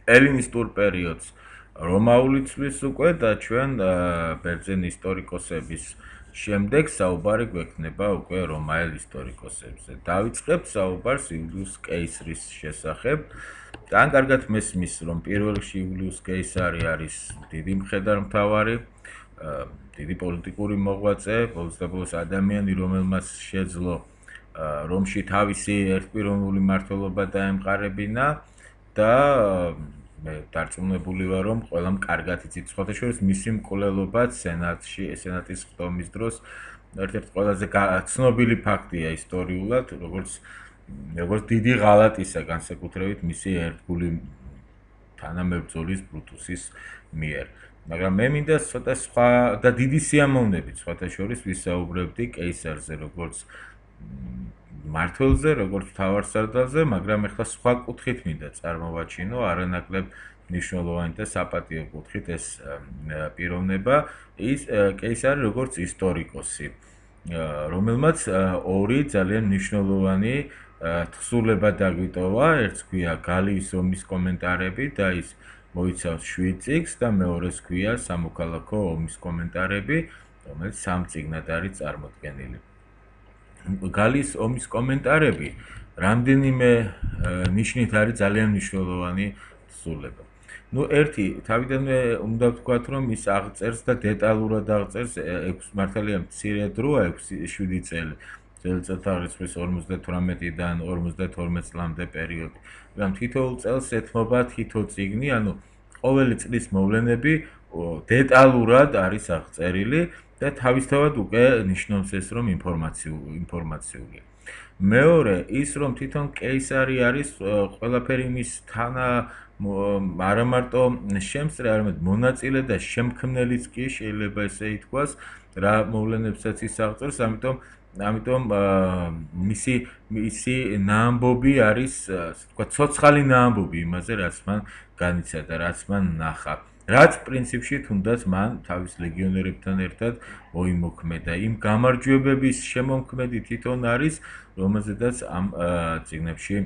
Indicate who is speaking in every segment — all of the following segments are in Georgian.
Speaker 1: ელინისტურ პერიოდს რომაული ცვლის უკვე და ჩვენ ბერძენი ისტორიკოსების შემდეგ საუბარი გვექნება უკვე რომაელ ისტორიკოსებზე. დავიწყებთ საუბარს იულიუს კეისრის შესახებ. თან კარგად მესმის, რომ პირველ რიგში იულიუს კეისარი არის დიდი მხედართმთავარი, დიდი პოლიტიკური მოღვაწე, ბოლოს ადამიანი, რომელმაც შეძლო რომში თავისი ერთპიროვნული მმართველობა დაემყარებინა და მე დარწმუნებული ვარ, რომ ყველამ კარგად იცით, სხვათა შორის მისი მკვლელობაც სენატის ხდომის დროს ერთ-ერთი ყველაზე ცნობილი ფაქტია ისტორიულად, როგორც დიდი ღალატისა განსაკუთრებით მისი ერთგული თანამებრძოლის ბრუტუსის მიერ. მაგრამ მე მინდა ცოტა სხვა და დიდი სიამოვნებით სხვათა შორის ვისაუბრებდი კეისარზე, როგორც მმართველზე, როგორც მთავარსარდალზე, მაგრამ ახლა სხვა კუთხით მინდა წარმოვაჩინო, არანაკლებ მნიშვნელოვანი და საპატიო კუთხით ეს პიროვნება, ის კეისარი როგორც ისტორიკოსი, რომელმაც ორი ძალიან მნიშვნელოვანი თხზულება დაგვიტოვა, ერთს ქვია გალიის ომის კომენტარები და ის მოიცავს 7 წიგნს და მეორეს ქვია სამოქალაქო ომის კომენტარები, რომელიც 3 წიგნად არის წარმოდგენილი. გალიის ომის კომენტარები რამდენიმე ნიშნით არის ძალიან მნიშვნელოვანი თხზულება. ერთი თავიდანვე უნდა ვთქვათ, რომ ის აღწერს და დეტალურად აღწერს 6 მართალია მცირე დროა 6-7 წელი. წელიწადთაღრიცხვის 58-დან 52 წლამდე პერიოდი. მაგრამ თითოეულ წელს ეთმობა თითო წიგნი, ანუ ყოველი წლის მოვლენები დეტალურად არის აღწერილი და თავისთავად უკვე ნიშნავს ეს, რომ ინფორმაციულია. მეორე ის, რომ თვითონ კეისარი არის ყველაფერი მის არა მარტო შემსწრე, არამედ მონაწილე და შემქმნელიც კი შეიძლება ესე ითქვას, რა მოვლენებსაც ის აღწერს, ამიტომ მისი ნაამბობი არის, თქვა, ცოცხალი ნაამბობი იმაზე, რაც მან განიცადა, რაც მან ნახა. რაც პრინციპში თუნდაც მან თავის ლეგიონერებთან ერთად მოიმოქმედა. იმ გამარჯვებების შემომქმედი თვითონ არის, რომელზედაც ამ წიგნებში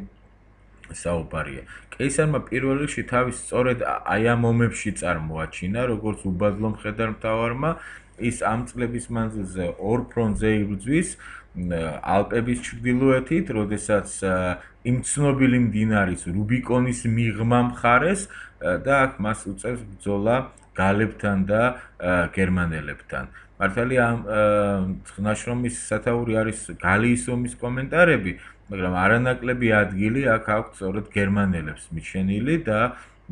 Speaker 1: საუბარია. კეისარმა პირველ რიგში თავის სწორედ აი ამ ომებში წარმოაჩინა, როგორც უბადლო მხედართმთავარმა, ის ამ წლების მანძილზე ორ ფრონტზე იბრძვის, ალპების ჩრდილოეთით, როდესაც იმ ცნობილი მდინარის რუბიკონის მიღმა მხარეს და აქ მას უწევს ბრძოლა გალებთან და გერმანელებთან. მართალია ამ ნაშრომის სათაური არის გალიის ომის კომენტარები, მაგრამ არანაკლები ადგილი აქ აქვს სწორედ გერმანელებს მიჩენილი და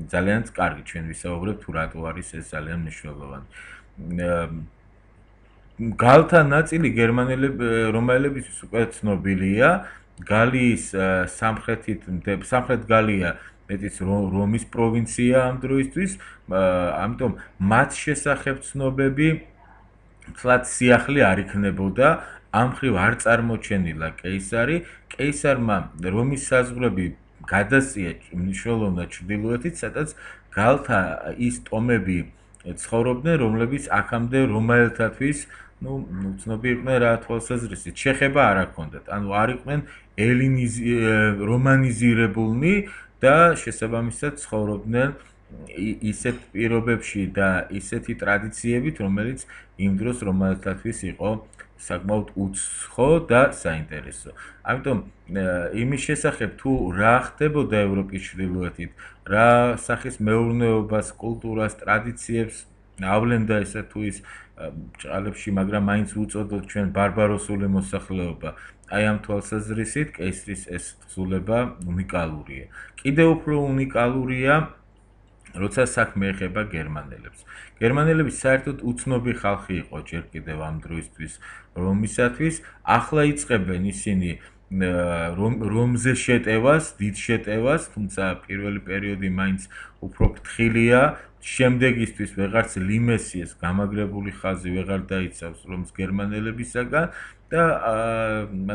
Speaker 1: ძალიან კარგი ჩვენ ვისაუბრებთ თუ რატო არის ეს ძალიან მნიშვნელოვანი. გალთა ნაწილი რომაელებისთვის უკვე ცნობილია. გალიის სამხრეთ გალია მეტიც რომის პროვინცია ამ დროისთვის, ამიტომ მათ შესახებ ცნობები თლად სიახლე არ იქნებოდა, ამ მხრივ არ წარმოჩენილა კეისარი. კეისარმა რომის საზღვრები გადასწია მნიშვნელოვნად ჩრდილოეთით, სადაც გალთა ის ტომები ცხოვრობდნენ, რომლებიც აქამდე რომაელთათვის უცნობი იყვნენ რა თვალსაზრისით, შეხება არ აქონდათ, ანუ არ იყვნენ რომანიზირებულნი და შესაბამისად ცხოვრობდნენ ისეთ პირობებში და ისეთი ტრადიციებით, რომელიც იმ დროს რომაელთათვის იყო საკმაოდ უცხო და საინტერესო. ამიტომ იმის შესახებ თუ რა ხდებოდა ევროპის ჩრდილოეთით, რა სახის მეურნეობას, კულტურას, ტრადიციებს ავლენდა ესა თუ ის ჭყალებში, მაგრამ მაინც უწოდოთ ჩვენ ბარბაროსული მოსახლეობა. აი ამ თვალსაზრისით კეისრის ეს თხზულება უნიკალურია. კიდევ უფრო უნიკალურია, როცა საქმე ეხება გერმანელებს. გერმანელები საერთოდ უცნობი ხალხი იყო ჯერ კიდევ ამ დროისთვის რომისათვის, ახლა იწყებენ ისინი რომზე შეტევას, დიდ შეტევას, თუმცა პირველი პერიოდი მაინც უფრო ფრთხილია. შემდეგისთვის ვეღარც ლიმესიეს გამაგრებული ხაზი ვეღარ დაიცავს რომს გერმანელებისაგან და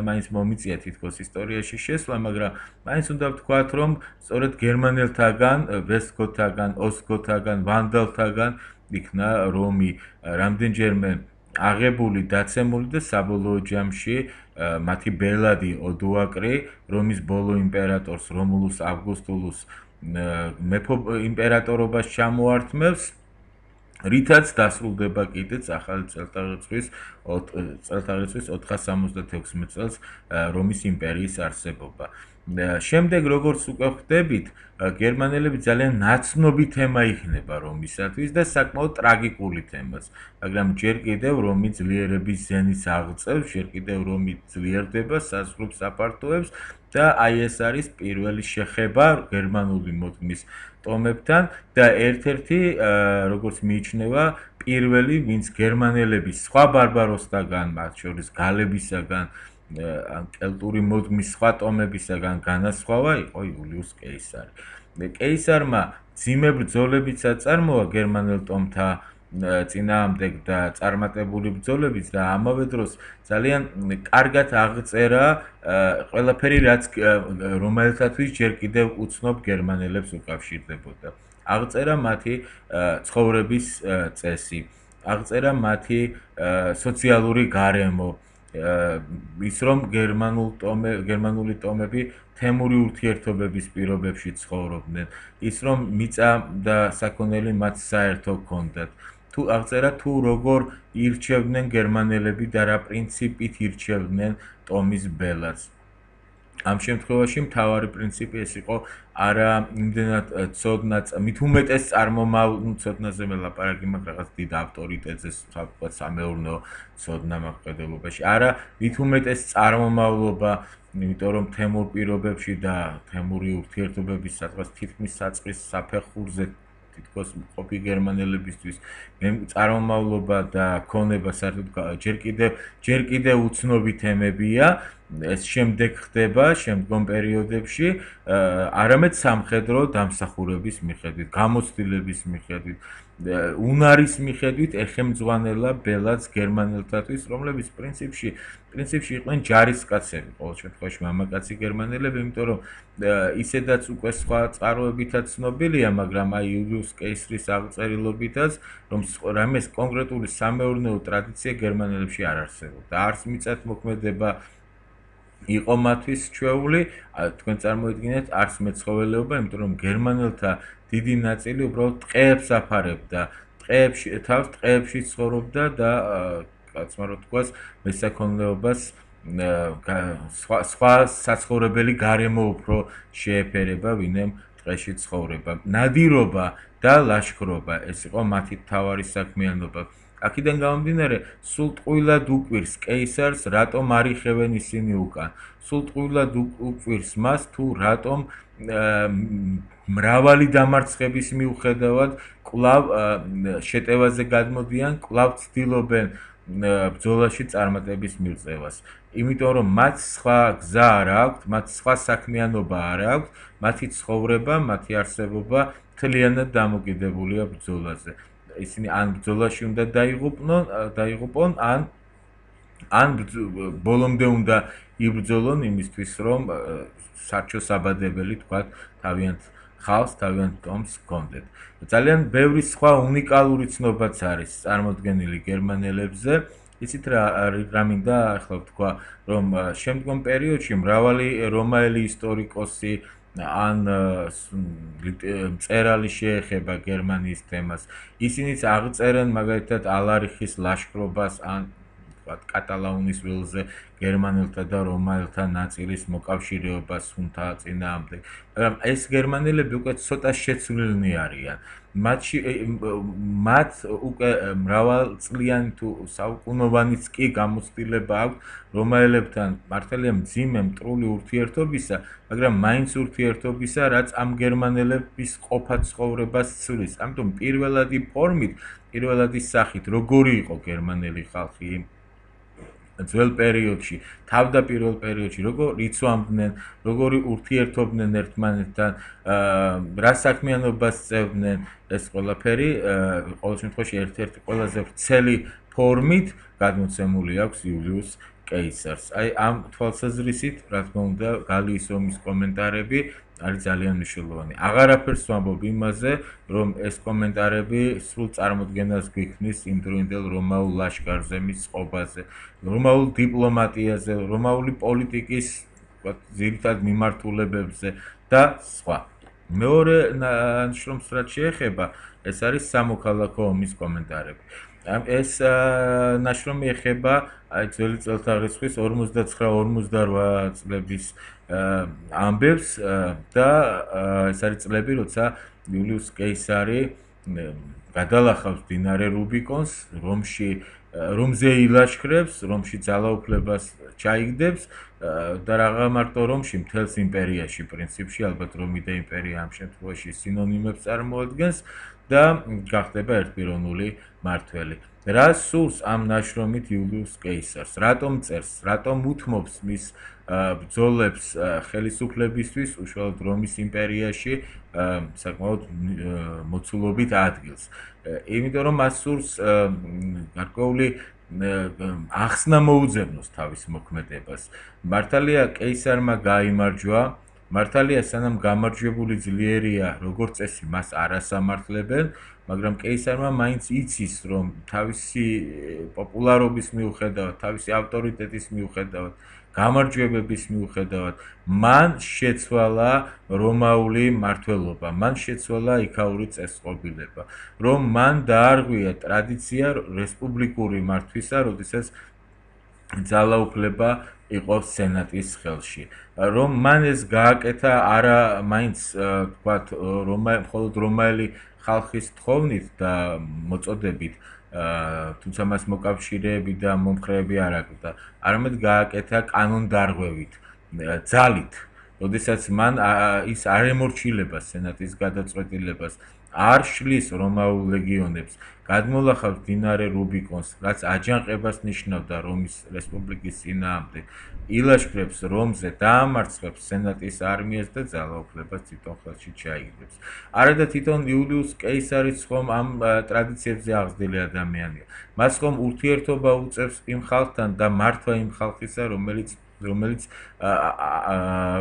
Speaker 1: მაინც მომიწია თითქოს ისტორიაში შესვლა, მაგრამ მაინც უნდა ვთქვათ, რომ სწორედ გერმანელთაგან, ვესტგოთთაგან, ოსტგოთთაგან, ვანდალთაგან იქნა რომი რამდენჯერმე აღებული, დაცემული და საბოლოო ჯამში მათი ბელადი ოდოაკრი, რომის ბოლო იმპერატორს რომულუს ავგუსტულუს იმპერატორობას ჩამოართმევს, რითაც დასრულდება კიდეც ახალი წელთაღრიცხვის 466 წელს რომის იმპერიის არსებობა. შემდეგ როგორც უკვე ხვდებით, გერმანელები ძალიან ნაცნობი თემა იქნება რომისათვის და საკმაოდ ტრაგიკული თემაც, მაგრამ ჯერ კიდევ რომი ძლიერების ზენის აღწევს, ჯერ კიდევ რომი ძლიერდება, საზღვრებს აფართოებს და აი ეს არის პირველი შეხება გერმანული მოდგმის ტომებთან და ერთ-ერთი, როგორც მიიჩნევა, პირველი, ვინც გერმანელების სხვა ბარბაროსთაგან, მათ შორის გალებისაგან, ან კელტური მოდგმის სხვა ტომებისაგან განასხვავა, იყო იულიუს კეისარი. კეისარმა ძიმე ბრძოლებიც აწარმოა გერმანელ ტომთა წინააღმდეგ და წარმატებული ბრძოლებიც და ამავე დროს ძალიან კარგად აღწერა ყველაფერი, რაც რომელთათვის ჯერ კიდევ უცნობ გერმანელებს უკავშირდებოდა. აღწერა მათი ცხოვრების წესი, აღწერა მათი სოციალური გარემო, ის რომ გერმანული ტომები თემური ურთიერთობების პირობებში ცხოვრობდნენ, ის რომ მიწა და საქონელი მათ საერთო ჰქონდათ. თუ აღწერა თუ როგორ ირჩევდნენ გერმანელები და რა პრინციპით ირჩევდნენ ტომის ბელადს. ამ შემთხვევაში მთავარი პრინციპი ეს იყო არა იმდენად ცოდნაც, მით უმეტეს ცოდნაზე მე ლაპარაკი მაქვს რაღაც დიდ ავტორიტეტზე, თქვა სამეურნეო ცოდნა მაყდელობაში. არა, მით უმეტეს წარმომავლობა, იმიტომ რომ თემურ პირობებში და თემური ურთიერთობების სადღაც თითქმის საწყის საფეხურზე თითქოს ყოფი გერმანელებისთვის წარმომავლობა და ქონება საერთოდ ჯერ კიდევ უცნობი თემებია. ეს შემდეგ ხდება შემდგომ პერიოდებში, არამედ სამხედრო დამსახურების მიხედვით, გამოცდილების მიხედვით, უნარის მიხედვით ეხემძღვანელა ბელადს გერმანელთათვის, რომლებიც პრინციპში იყვნენ ჯარისკაცები, ყოველ შემთხვევაში მამაკაცი გერმანელები, იმიტომ რომ ისედაც უკვე სხვა წყაროებითაც ცნობილია, მაგრამ აი იულიუს კეისრის აღწერილობითაც, რომ რამეს კონკრეტული სამეურნეო ტრადიცია გერმანელებში არ არსებობდა. არც მიწათმოქმედება იყო მათთვის ჩვეული, თქვენ წარმოიდგინეთ, არც მეცხოველეობა, იმიტომ რომ გერმანელთა დიდი ნაწილი უბრალოდ ტყეებს აფარებდა, თავს ტყეებში ცხოვრობდა და კაცმა რო თქვას, მესაქონლეობას სხვა საცხოვრებელი გარემო უფრო შეეფერება, ვინმე ტყეში ცხოვრება. ნადირობა და ლაშქრობა, ეს იყო მათი მთავარი საქმიანობა. აქედან გამომდინარე, სულ ტყუილად უკვირს კეისარს, რატომ არ იხევენ ისინი უკან. სულ ტყუილად უკვირს მას, თუ რატომ მრავალი დამარცხების მიუხედავად კვლავ შეტევაზე გადმოდიან, კვლავ ცდილობენ ბრძოლაში წარმატების მიღწევას. იმიტომ რომ მათ სხვა გზა არ აქვთ, მათ სხვა საქმიანობა არ აქვთ, მათი ცხოვრება, მათი არსებობა მთლიანად დამოკიდებულია ბრძოლაზე. ისინი ან ბრძოლაში უნდა დაიღუპონ, ან ბოლომდე უნდა იბრძოლონ იმისთვის, რომ სარჩო-საბადებელი თქვათ თავიანთ ხალხს, თავიანთ ტომს ჰქონდეთ. ძალიან ბევრი სხვა უნიკალური ცნობაც არის წარმოდგენილი გერმანელებზე. იცით რა მინდა ახლა ვთქვა, რომ შემდგომ პერიოდში მრავალი რომაელი ისტორიკოსი ან მწერალი შეეხება გერმანიის თემას. ისინიც აღწერენ მაგალითად ალარიხის ლაშქრობას ან კატალაუნის ველზე გერმანელთა და რომაელთა ნაწილის მოკავშირეობას ჰუნთა წინააღმდეგ. მაგრამ ეს გერმანელები უკვე ცოტა შეცვლილნი არიან. მათ უკვე მრავალწლიანი თუ საუკუნოვანიც კი გამოცდილება აქვს რომაელებთან მართალია მძიმე მტრული ურთიერთობისა, მაგრამ მაინც ურთიერთობისა, რაც ამ გერმანელების ყოფა ცხოვრებას ცვლის. ამიტომ პირველადი ფორმით, პირველადი სახით, როგორი იყო გერმანელი ხალხი ძველ პერიოდში, თავდაპირველ პერიოდში, როგორ იცვამდნენ, როგორი ურთიერთობდნენ ერთმანეთთან, რა საქმიანობას წევდნენ, ეს ყველაფერი ყოველ შემთხვევაში ერთ-ერთი ყველაზე ვრცელი ფორმით გადმოცემული აქვს იულიუს კეისარს. აი ამ თვალსაზრისით, რა თქმა უნდა, გალიის ომის კომენტარები არის ძალიან მნიშვნელოვანი. აღარაფერს ვამბობ იმაზე, რომ ეს კომენტარები სრულ წარმოდგენას გვიქმნის იმდროინდელ რომაულ ლაშქარზე, მის წყობაზე, რომაულ დიპლომატიაზე, რომაული პოლიტიკის ძირითად მიმართულებებზე და სხვა. მეორე ნაშრომს რაც შეეხება, ეს არის სამოქალაქო ომის კომენტარები. ეს ნაშრომი ეხება აი ძველი წელთაღრიცხვის 59-58 წლების ამბებს და ეს არის წლები, როცა იულიუს კეისარი გადალახავს მდინარე რუბიკონს, რომზე ილაშქრებს, რომში ძალაუფლებას ჩაიგდებს და რაღა მარტო რომში, მთელს იმპერიაში პრინციპში, ალბათ რომი და იმპერია ამ შემთხვევაში სინონიმებს წარმოადგენს და გახდება ერთპიროვნული მმართველი. რა სურს ამ ნაშრომით იულიუს კეისარს? რატომ წერს? რატომ უთმობს მის ბრძოლებს ხელისუფლებისთვის უშუალოდ რომის იმპერიაში საკმაოდ მოცულობით ადგილს? იმიტომ რომ მას სურს გარკვეული ახსნა მოუძებნოს თავის მოქმედებას. მართალია კეისარმა გაიმარჯვა, მართალია სანამ გამარჯვებული ძლიერია, როგორც წესი მას არ ასამართლებენ, მაგრამ კეისარმა მაინც იცის, რომ თავისი პოპულარობის მიუხედავად, თავისი ავტორიტეტის მიუხედავად, გამარჯვებების მიუხედავად, მან შეცვალა რომაული მმართველობა, მან შეცვალა იქაური წესწყობილება, რომ მან დაარღვია ტრადიცია რესპუბლიკური მართვისა, როდესაც ძალაუფლება იყო სენატის ხელში. რომ მან ეს გააკეთა არა მაინც თქვათ მხოლოდ რომაელი ხალხის თხოვნით და მოწოდებით, თუმცა მას მოკავშირეები და მომხრეები არ აკვდა, არამედ გააკეთა კანონდარღვევით, ძალით. როდესაც მან ის არ ემორჩილება სენატის გადაწყვეტილებას, არ შლის რომაულ ლეგიონებს, გადმოლახავს მდინარე რუბიკონს, რაც აჯანყებას ნიშნავდა რომის რესპუბლიკის წინააღმდეგ, ილაშქრებს რომზე, დაამარცხებს სენატის არმიას და ძალაუფლებას თვითონ ხელში ჩაიგდებს. არადა თვითონ იულიუს კეისარიც ხომ ამ ტრადიციებზე აღზრდილი ადამიანია. მას ხომ ურთიერთობა უწევს იმ ხალხთან და მართვა იმ ხალხისა,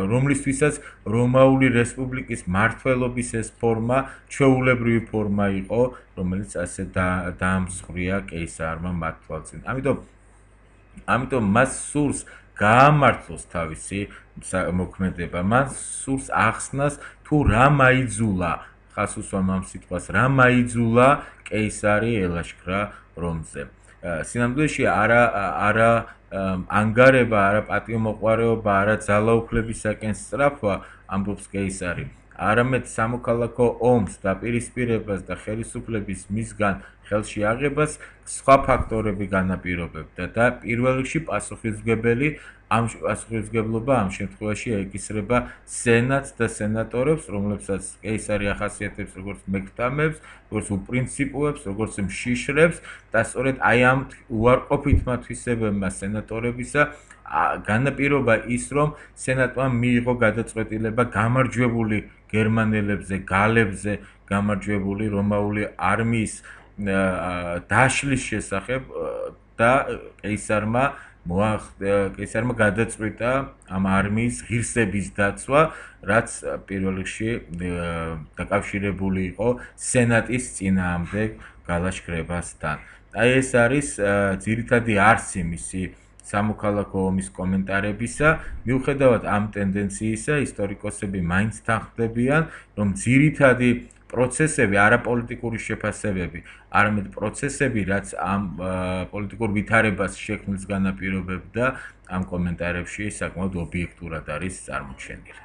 Speaker 1: რომლისთვისაც რომაული რესპუბლიკის მმართველობის ეს ფორმა ჩვეულებრივი ფორმა იყო, რომელიც ასე დაამსხვრია კეისარმა მათ თვალწინ. ამიტომ მას სურს გაამართლოს თავისი მოქმედება, მას სურს ახსნას თუ რა მაიძულა, ხას უსვამ ამ სიტყვას, რა მაიძულა კეისარი ელაშქრა რომზე. სინამდვილეში არა ანგარება, არა პატიომოყვარეობა, არა ძალაუფლებისაკენ სწრაფვა ამბობს კეისარი, არამედ სამოქალაქო ომს დაპირისპირებას და ხელისუფლების მისგან ხელში აღებას სხვა ფაქტორები განაპირობებდა და პირველ რიგში პასუხისმგებლობა ამ შემთხვევაში ეკისრება სენატს და სენატორებს, რომლებსაც კეისარი ახასიათებს როგორც მეკვთამებს, როგორც უპრინციპოებს, როგორც მშიშრებს და სწორედ აი ამ უარყოფით მათვისებებმა სენატორებისა განაპირობა ის, რომ სენატმა მიიღო გადაწყვეტილება გამარჯვებული გერმანელებზე, გალებზე გამარჯვებული რომაული არმიის დაშლის შესახებ და კეისარმა გადაწყვიტა ამ არმიის ღირსების დაცვა, რაც პირველ რიგში დაკავშირებული იყო სენატის წინააღმდეგ გალაშქრებასთან. აი ეს არის ძირითადი არსი მისი სამოქალაქო ომის კომენტარებისა, მიუხედავად ამ ტენდენციისა, ისტორიკოსები მაინც თანხმდებიან, რომ ძირითადი პროცესები, არაპოლიტიკური შეფასებები, არამედ პროცესები, რაც ამ პოლიტიკურ ვითარებას შექმნილს განაპირობებდა, ამ კომენტარებში საკმაოდ ობიექტურად არის წარმოჩენილი.